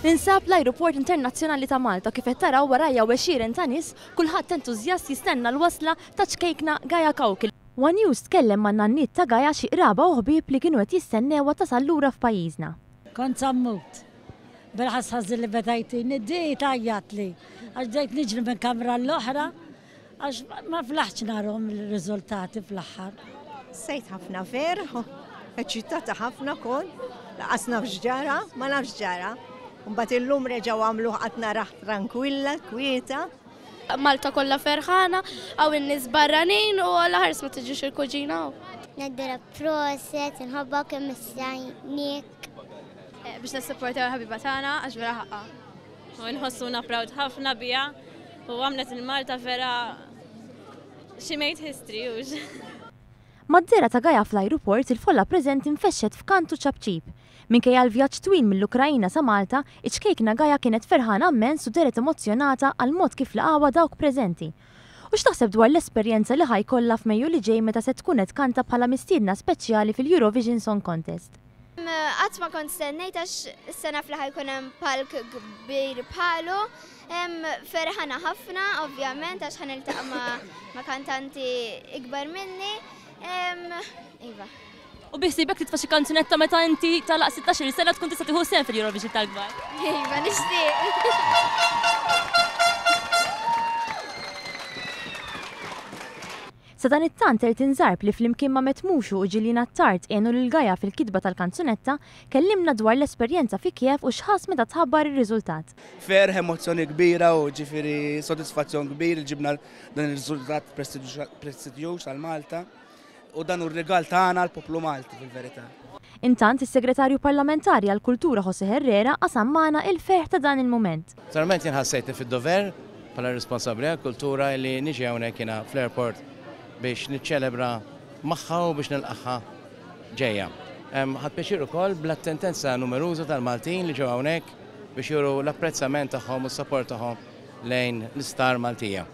Ninsab l-Ajruport Internazzjonali ta' Malta kif qed taraw warajja għexieren ta' nies, kulħadd entużjast jistenna l-wasla ta' ċkejkna Gaia Cauchi. One News tkellem man-nanniet ta' Gaia xi qraba u ħbieb li kienu qed jistennewha tasal lura f'pajjiżna. Kont sa mmut. Bil-ħass ħażin li beda jtini, di tgħajjatli għax bdejt niġri minn kamra l-oħra Għax ma flaħtx narhom il-riżultati fl-aħħar. Sejt ħafna ferħ, eċitata ħafna kont, laqas naf x'ġara, ma nafx x'ġara. Mbagħad illum reġgħu għamluh qatt narah trankwilla, kwieta. Malta kollha ferħana, hawn in-nies barranin u alla ħares ma tiġix il-kuġina hawn. Ngħidilha proset, inħobbok immissajniek. Biex nissupportaw il-ħabiba tagħna għax vera ħaqqa. U nħossuna proud ħafna biha u għamlet il-Malta vera she made history hux. Mad-dehra ta' Gaia fl-ajruport, il-folla preżenti nfexxet f'kant u ċapċip. Minkejja l-vjaġġ twil mill-Ukraina sa Malta, iċ-ċkejkna Gaia kienet ferħana mmens u dehret emozzjonata għall-mod kif laqgħuha dawk preżenti. U x'taħseb dwar l-esperjenza li ħa jkollha f'Mejju li ġej meta se tkun qed tkanta bħala mistiedna speċjali fil-Eurovision Song Contest? Qatt ma kont stennejt għax issa naf li ħajkun hemm palk kbir bħalu. Ferħana ħafna, ovvjament, għax ħa niltaqa' ma' kantanti ikbar minni. Iva. U biħsiebek titfa' xi kanzunetta meta inti tagħlaq 16-il sena tkun tista' tieħu sehem fil-Eurovision tal-kbar? Iva, nixtieq. Sadanittant Elton Zarb li flimkien ma' Matt Mushu u Gillian Attard għenu lil Gaia fil-kitba tal-kanzunetta, kellimna dwar l-esperjenza fi Kiev u x'ħass meta tħabbar ir-riżultat. Ferħ, emozzjoni kbira u ġifieri sodisfazzjon kbir li ġibna dan ir-riżultat prestiġjuż għal Malta u dan hu r-rigal tagħna għall-poplu Malti fil-verità. Intant, is-Segretarju Parlamentari għall-Kultura José Herrera qasam magħna il-ferħ ta' dan il-mument. Naturalment jien ħassejtni fid-dover bħala responsabbli għall-kultura li niġi hawnhekk jiena fl-airport biex niċċelebra magħha u biex nilqagħha ġejja. Ħadt pjaċir ukoll bl-attentenza numeruża tal-Maltin li ġew hawnhekk biex juru l-apprezzament tagħhom u s-sapport tagħhom lejn l-istar Maltija.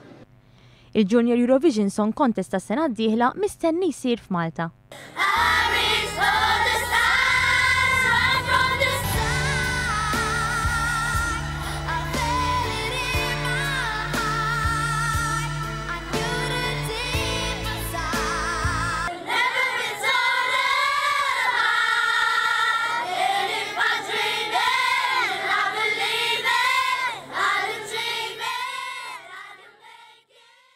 Il-Junior Eurovision Song Contest tas-sena d-dieħla mistenni jsir f'Malta.